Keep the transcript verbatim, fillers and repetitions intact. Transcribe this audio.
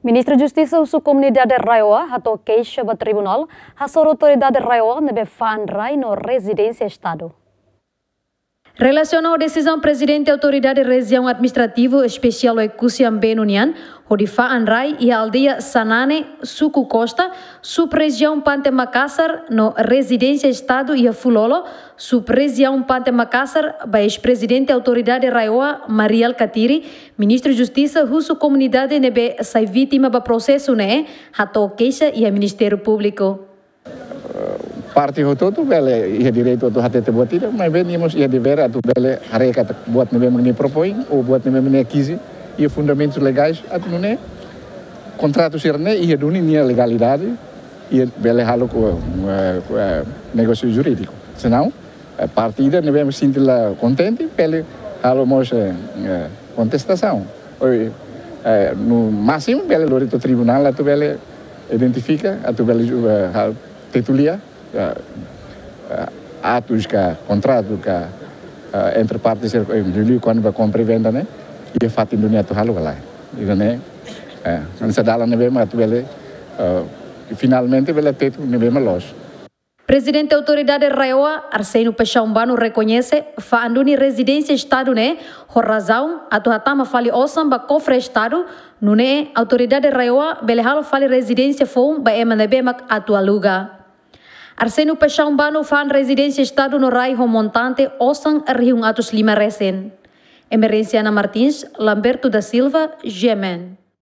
Ministru Justisa husu komunidade RAEOA hato'o keixa ba tribunál hasoru autoridade RAEOA ne'ebé fa'an rai no rezidénsia Estadu. Relasiona ho desizaun Prezidente Autoridade Rejiaun Administrativa Espesiál Oekusi Ambenu nian, hodi fa'an rai iha aldeia Sanane, suku Costa, sub-rejiaun Pante Makasar, no rezidénsia Estadu iha Fulolo, sub-rejiaun Pante Makasar, ba eis-prezidente Autoridade RAEOA, Mari Alkatiri, Ministru Justisa husu komunidade ne'ebé sai vítima ba prosesu ne'e, hato'o keixa iha Ministériu Públiku. Parte hotu-hotu bele iha direitu atu hatete buat ida, maibé nia mós iha devér atu bele haree katak buat ne'ebé mak nia propoin, ou buat ne'ebé mak nia ekize, iha fundamentus legais atu nune'e kontratu sira-ne'e iha duni nia legalidade, iha bele halo ku, eh, ku, eh, negósiu jurídiku. Senão, eh, parte ida ne'ebé mak sente la kontente, bele halo mós, eh, eh, kontestasaun. Ou, eh, no másimu bele lori to'o tribunál atu bele identifika, atu bele ju-, eh, hal-, tetu lia, eh, eh, atus ka, kontratu ka, eh, entre partes, eh, liuliu kona-ba kompra i venda ne'e, iha fatin duni atu halo ka lae. Ida-ne'e, eh, hanesan dalan ne'ebé mak atu bele, eh, finalmente bele tetu ne'ebé mak loos. Prezidente Autoridade RAEOA, Arsénio Paixão Bano, rekoñese fa'an duni rezidénsia Estadu ne'e ho razaun atu hatama fali osan ba kofre Estadu, nune'e Autoridade RAEOA bele halo fali rezidénsia foun ba ema ne'ebé mak atu aluga. Arsénio Paixão Bano fa'an rezidénsia Estadu no rai ho montante osan rihun atus lima resin. Emerenciana Martins, Lamberto da Silva, G M N.